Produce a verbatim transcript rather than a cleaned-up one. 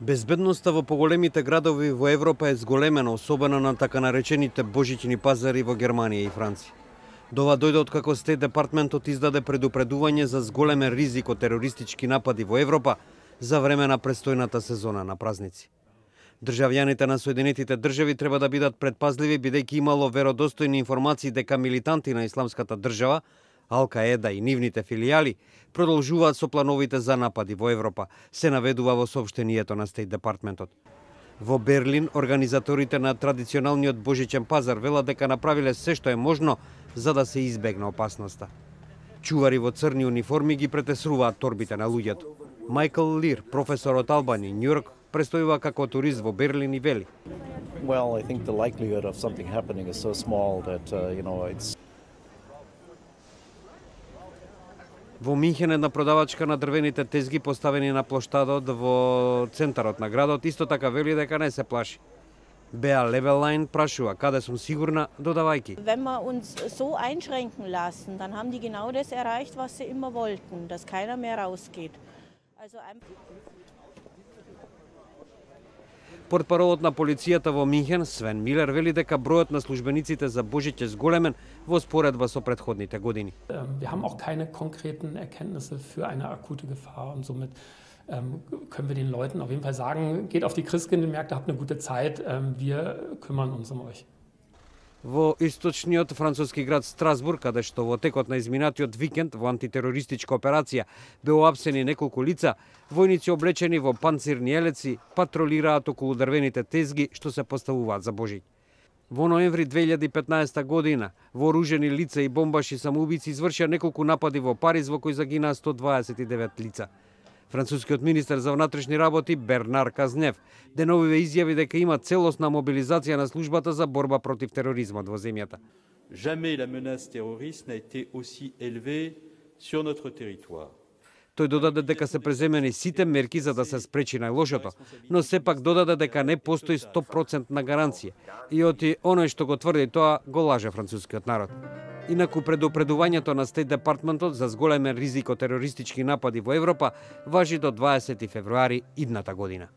Безбедноста во поголемите градови во Европа е зголемена, особено на така наречените божични пазари во Германија и Франција. До ова дојде откако Стейт департментот издаде предупредување за зголемен ризик од терористички напади во Европа за време на престојната сезона на празници. Државјаните на Соединетите држави треба да бидат предпазливи, бидејќи имало веродостојни информации дека милитанти на Исламската држава, Ал-Каеда и нивните филијали продолжуваат со плановите за напади во Европа, се наведува во соопштението на Стейт департментот. Во Берлин, организаторите на традиционалниот божичен пазар велат дека направиле се што е можно за да се избегне опасноста. Чувари во црни униформи ги претесруваат торбите на луѓето. Майкл Лир, професор од Албани, Њујорк, престојува како турист во Берлин и вели: Well, I think the likelihood of something happening is so small that uh, you know it's Во Минхен една продавачка на дрвените тезги поставени на плоштадот во центарот на градот исто така вели дека не се плаши. Беа Левелайн прашува каде сум сигурна, додавајќи: Wenn wir uns so einschränken lassen, dann haben die genau das erreicht, was sie immer wollten, dass keiner mehr rausgeht. Also Портпаролот на полицијата во Минхен, Свен Милер, вели дека бројот на службениците за Божич е зголемен во споредба со претходните години. Wir haben auch keine konkreten Erkenntnisse für eine akute Gefahr und somit ähm, können wir den Leuten auf jeden Fall sagen, geht auf die Christkindlmärkte, habt eine gute Zeit, ähm, wir kümmern uns um euch. Во источниот француски град Страсбург, каде што во текот на изминатиот викенд во антитерористичка операција беа уапсени неколку лица, војници облечени во панцирни елеци патролираат околу дрвените тезги што се поставуваат за Божиќ. Во ноември две илјади и петнаесета година вооружени лица и бомбаши самоубици извршија неколку напади во Париз во кои загинаа сто дваесет и девет лица. Францускиот министер за внатрешни работи Бернар Казнев деновиве изјави дека има целосна мобилизација на службата за борба против тероризмот во земјата. Jamais la menace terroriste n'a été aussi élevée sur notre territoire. Тој додаде дека се преземени сите мерки за да се спречи најлошото, но сепак додаде дека не постои сто проценти гаранција и оти оној што го тврди тоа го лаже францускиот народ. Инаку предупредувањето на Стейт департментот за зголемен ризик од терористички напади во Европа важи до дваесети февруари идната година.